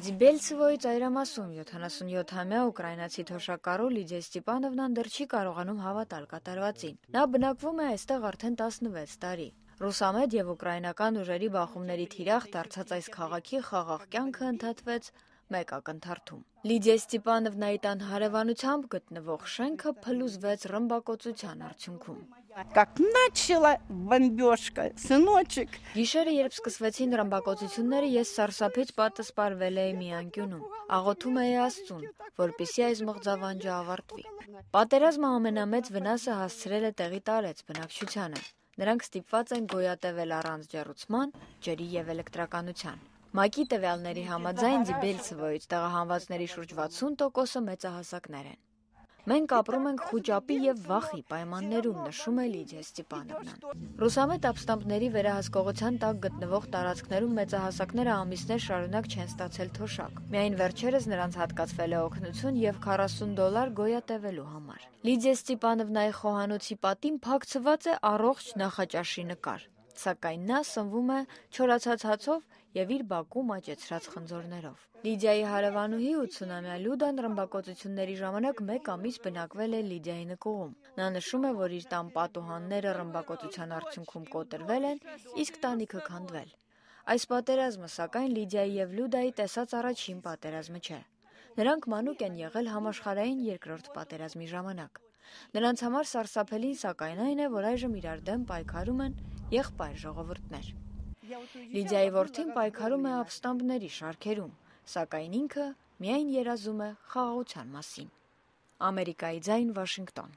Ձիբելցևոյի ծայրամասում 77-ամյա ուկրաինացի թոշակառու Լիդիա Ստիպանովնան դեռ չի կարողանում հավատալ կատարվածին։ Նա բնակվում է այստեղ արդեն 16 տարի։ Ռուսամետ եւ ուկրաինական ուժերի բախումների թիրախ դարձած այս քաղաքի խաղաղ կյանքը ընդհատվեց մեկ ակնթարթում։ Լիդիա Ստիպանովնայի տան հարևանությամբ գտնվող շենքը փլուզվեց ռմբակոծության արդյունքում։ Գիշերը, երբ սկսվեցին ռմբակոծությունները, ես սարսափից պատը սպառվել էի մի անկյունում։ Աղոթում էի Աստծուն, որպեսզի այս մղձավանջը ավարտվի։ Պատերազմը ամենամեծ վնասը հասցրել է տեղի տարեց բնակչությանը։ Նրանք ստիպված են գոյատևել առանց ջեռուցման, ջրի եւ էլեկտրականության։ ՄԱԿ-ի տվյալների համաձայն Ձիբելցևոյից տեղահանվածների շուրջ 60%-ը մեծահասակներ են։ Մենք ապրում ենք խուճապի եւ վախի պայմաններում, նշում է Լիդիա Ստիպանովնան։ Ռուսամետ ապստամբների վերահսկողության տակ գտնվող տարածքներում մեծահասակները ամիսներ շարունակ չեն ստացել թոշակ։ Միայն վերջերս նրանց հատկացվել է օգնություն եւ $40 գոյատևելու համար։ Լիդիա Ստիպանովնայի խոհանոցի պատին փակցված է առողջ նախաճաշի նկար, սակայն նա սնվում է չորացած հացով եւ իր բակում աճեցրած խնձորներով։ Լիդիայի հարևանուհի 80-ամյա Լյուդան ռմբակոծությունների ժամանակ 1 ամիս բնակվել է Լիդիայի նկուղում։ Նա նշում է, որ իր տան պատուհանները ռմբակոծության արդյունքում կոտրվել են, իսկ տանիքը քանդվել։ Այս պատերազմը, սակայն, Լիդիայի եւ Լյուդայի տեսած առաջին պատերազմը չէ։ Նրանք մանուկ են եղել համաշխարհային երկրորդ պատերազմի ժամանակ։ Նրանց համար սարսափելին, սակայն, այն է, որ այժմ իրար դեմ պայքարում են եղբայր ժողովուրդներ։ Լիդիայի որդին պայքարում է ապստամբների շարքերում, սակայն ինքը միայն երազում է խաղաղության մասին։ Ամերիկայի ձայն, Վաշինգտոն։